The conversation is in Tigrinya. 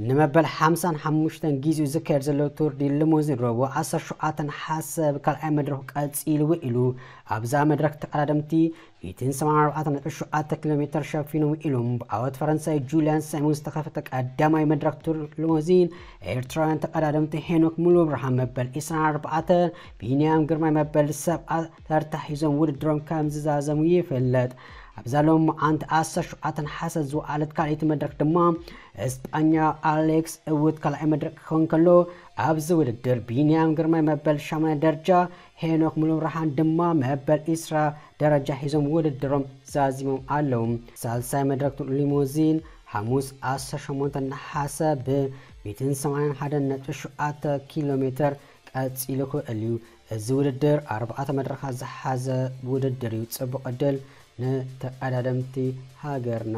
ንመበል ሓምሳን ሓሙሽተን ግዜኡ ዝካየድ ዘሎ ቱር ዲ ሊሞዚን ረቡዕ ዓሰርተ ሸውዓተ ነሓሰ ብካልኣይ መድረኹ ቀጺሉ ውዒሉ። ኣብዛ መድረኽ ተቐዳደምቲ ሚእትን ሰማንያን ኣርባዕተ ነጥቢ ሸውዓተ ኪሎ ሜትር ሸፊኑ ውዒሉ። ብዓወት ፈረንሳይ ጁልያን ሳይሞን ዝተኸፈተ ቀዳማይ መድረኽ ቱር ሊሞዚን ኤርትራውያን ተቐዳደምቲ ሄኖክ ሙሉብርሃን መበል ዒስራን ኣርባዕተን፣ ቢንያም ግርማይ መበል ሰብዓ ተርታ ሒዞም ውድድሮም ከም ዝዛዘሙ ይፍለጥ። ኣብዛ ሎማዓንቲ ዓሰርተ ሸውዓተ ነሓሰ ዝወዓለት ካልኣይቲ መድረኽ ድማ እስጳኛ ኣሌክስ እውት ካልኣይ መድረኽ ክኸውን ከሎ፣ ኣብዚ ውድድር ቢንያም ግርማይ መበል ሻምናይ ደረጃ፣ ሄኖክ ሙሉብርሃን ድማ መበል ዒስራ ደረጃ ሒዞም ውድድሮም ዛዚሞም ኣለዉ። ሳልሳይ መድረኽ ቱር ሊሞዚን ሓሙስ ዓሰርተ ሸሞንተ ነሓሰ ብ ሚእትን ሰማንያን ሓደን ነጥቢ ሸውዓተ ኪሎ ሜትር ቀጺሉ ክውዕል እዩ። እዚ ውድድር ኣርባዕተ መድረኻት ዝሓዘ ውድድር እዩ። ጽቡቕ ዕድል ንተቐዳደምቲ ሃገርና።